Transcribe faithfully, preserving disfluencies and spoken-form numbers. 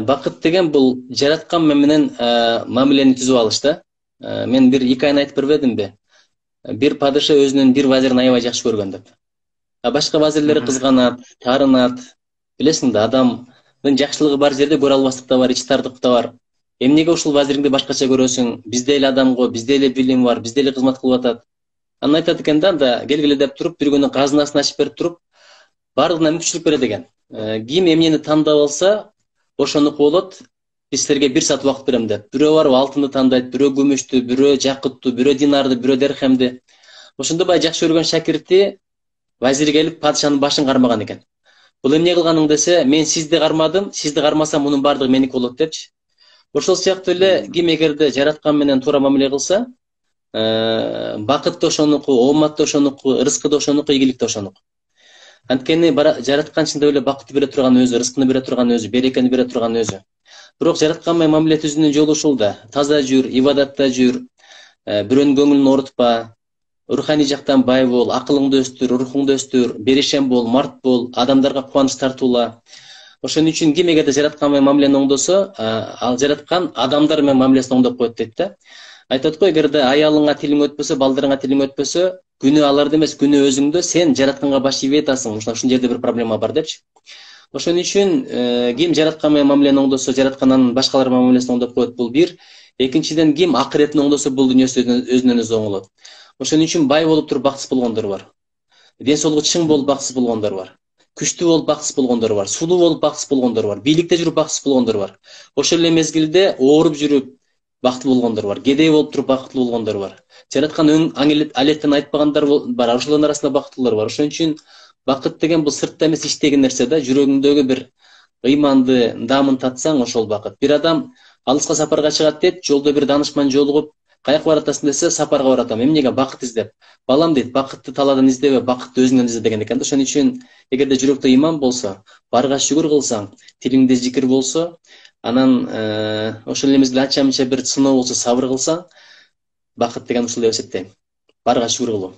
Бакыт деген бул жараткан менен мамилени түзүп алыш да. Мен бир эки айын айтып бербедимби? Бир падыша өзүнүн бир вазирин аябай жакшы көргөн деп. А башка вазирлери кызганат, таарынат. Билесиң да, адамдын жакшылыгы бар жерде көрө албастык да бар, ич тардык да бар. Эмнеге ушул вазириңди башкача көрөсүң? Бизде эле адам го, бизде эле билим бар, бизде эле кызмат кылып атат. Анан айтат экен да, анда келгиле деп туруп, бир күнү казынасын ачып берип туруп, бардыгына мүмкүнчүлүк берет экен. Ким эмнени тандап алса, ошонуку болот. Биз силерге бир саат убакыт берем деп. Бирөө барып алтынды тандайт, бирөө күмүштү, бирөө жакытту, бирөө динарды, бирөө дерхемди. Ошондо бай жакшы көргөн шакирти вазир келип падышанын башын кармаган экен. Бул эмне кылганың десе, мен сизди кармадым, сизди кармасам мунун бардыгы меники болот депчи. Ошол сыяктуу эле ким эгерде жараткан менен туура мамиле кылса, бакыт да ошонуку, оомат да ошонуку, ырыскы да ошонуку, ийгилик да ошонуку. Анткени жараткан чындап эле бакытты бере турган өзү, ырыскыны бере турган өзү, берекени бере турган өзү. Бирок жараткан менен мамиле түзүүнүн жолу ушул да. Таза жүр, ибадатта жүр, бирөөнүн көңүлүн оорутпа, руханий жактан бай бол, акылыңды өстүр, рухуңду өстүр, беришем бол, март бол, адамдарга кубаныч тартуула. Ошон үчүн ким эгерде жараткан менен мамилени оңдосо, ал жараткан адамдар менен мамилесин оңдоп коет дейт да. Айтат го, эгерде аялыңа тилиң өтпөсө, балдарыңа тилиң өтпөсө, күнөө аларда эмес, күнөө өзүңдө, сен жаратканга баш ийбей атасың. Ушул жерде бир проблема бар депчи. Ошон үчүн ким жараткан менен мамилени оңдосо, жаратканын башкалар менен мамилесин оңдоп коет, бул бир. Экинчиден, ким акыретин оңдосо, бул дүйнөсү өзүнөн өзү оңолот. Ошон үчүн бай болуп туруп бакытсыз болгондор бар. Ден соолугу чың болуп бакытсыз болгондор бар. Күчтүү болуп бакытсыз болгондор бар. Сулуу болуп бакытсыз болгондор бар. Бийликте жүрүп бакытсыз болгондор бар. Ошол эле мезгилде ооруп жүрүп бактылуу болгондор бар. Кедей болуп туруп бактылуу болгондор бар. Жараткан өң алеттен айтпагандар бар. Ошолордун арасында бактылуулар бар. Ошон үчүн бакыт деген бул сыртта эмес, ичтеги нерсе да. Жүрөгүңдөгү бир ыйманды, даамын татсаң, ошол бакыт. Бир адам алыска сапарга чыгат дейт, жолдо бир даанышман жолугуп, каяка баратасың десе, сапарга баратам. Эмнеге? Бакыт издеп. Балам дейт, бакытты талаадан издебе, бакытты өзүңдөн изде деген экен да. Ошон үчүн эгерде жүрөктө ыйман болсо, барга шүгүр кылсаң, тилиңде зикир болсо, анан ошол эле мезгилде анча-мынча бир сыноо болсо, сабыр кылсаң, бакыт деген ушул деп эсептейм. Барга шүгүр кылуу.